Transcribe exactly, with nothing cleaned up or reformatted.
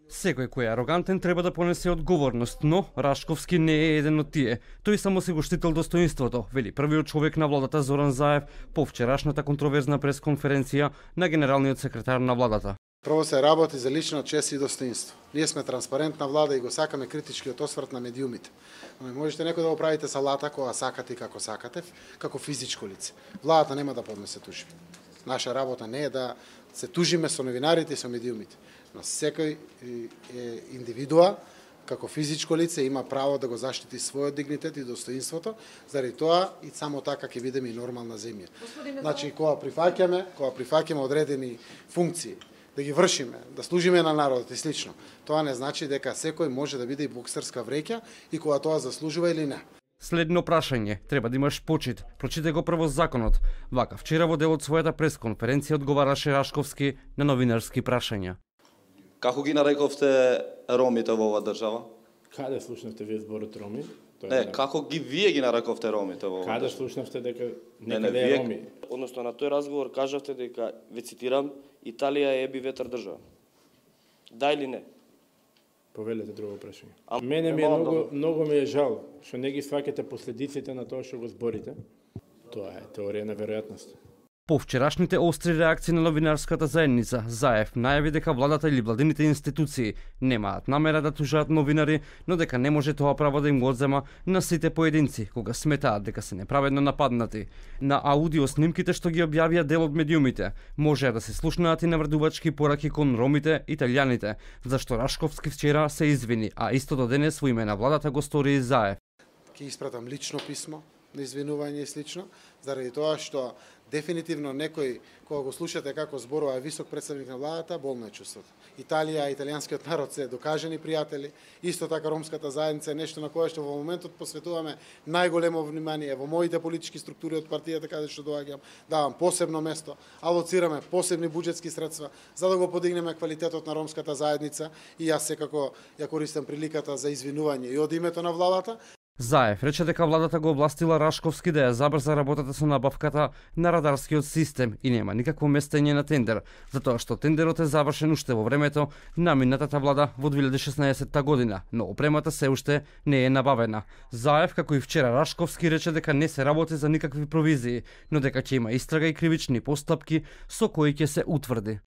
Секој кој е арогантен треба да понесе одговорност, но Рашковски не е еден од тие. Тој само се го штител достоинството, вели првиот човек на владата Зоран Заев по вчерашната контроверзна пресконференција на генералниот секретар на владата. Прво се работи за лична чест и достоинство. Ние сме транспарентна влада и го сакаме критичкиот осврт на медиумите. Но не можете некој да го правите салата кога сакате и како сакате, како физичко лице. Владата нема да поднесе тужби. Наша работа не е да се тужиме со новинарите и со медиумите. Но секој е индивидуа, како физичко лице, има право да го заштити својот дигнитет и достоинството, заради тоа и само така ќе бидеме и нормална земја. Значи, кога прифаќаме, кога прифаќаме одредени функции, да ги вршиме, да служиме на народот и слично, тоа не значи дека секој може да биде и боксерска вреќа и кога тоа заслужува или не. Следно прашање, треба да имаш почит. Прочитай го прво законот. Вака, вчера во дел од својата пресконференција одговараше Рашковски на новинарски прашања. Како ги нарековте ромите во оваа држава? Каде слушнавте вие зборот роми? Не, е... како ги вие ги нарековте ромите во оваа Каде држава? слушнавте дека не, некаде не, е вие... роми? Односно на тој разговор кажавте дека, ве цитирам, Италија е еби ветар држава. Да или не? Повелете друго прашање. А, Мене ми е немам многу, да... многу ми е жал што не ги сваќате последиците на тоа што го зборите. Тоа е теорија на веројатност. По вчерашните остри реакции на новинарската заедница, Заев најави дека владата или владините институции немаат намера да тужаат новинари, но дека не може тоа право да им го одзема на сите поединци кога сметаат дека се неправедно нападнати. На аудио снимките што ги објавија дел од медиумите, можеа да се слушнаат и навредувачки пораки кон ромите, италијаните, зашто Рашковски вчера се извини, а истото денес во име на владата го стори и Заев. Ќе испратам лично писмо на извинување и слично, заради тоа што дефинитивно некој, кога го слушате како зборува висок представник на владата, болно е чувството. Италија, италијанскиот народ се докажани пријатели, исто така ромската заедница е нешто на кое што во моментот посветуваме најголемо внимание. Во моите политички структури од партијата каде што доаѓам, давам посебно место, алоцираме посебни буџетски средства за да го подигнеме квалитетот на ромската заедница и јас секако ја користам приликата за извинување и од името на владата. Заев рече дека владата го областила Рашковски да ја забрза работата со набавката на радарскиот систем и нема никакво местење на тендер, затоа што тендерот е завршен уште во времето на минатата влада во две илјади и шеснаесетта година, но опремата се уште не е набавена. Заев, како и вчера Рашковски, рече дека не се работи за никакви провизии, но дека ќе има истрага и кривични постапки со кои ќе се утврди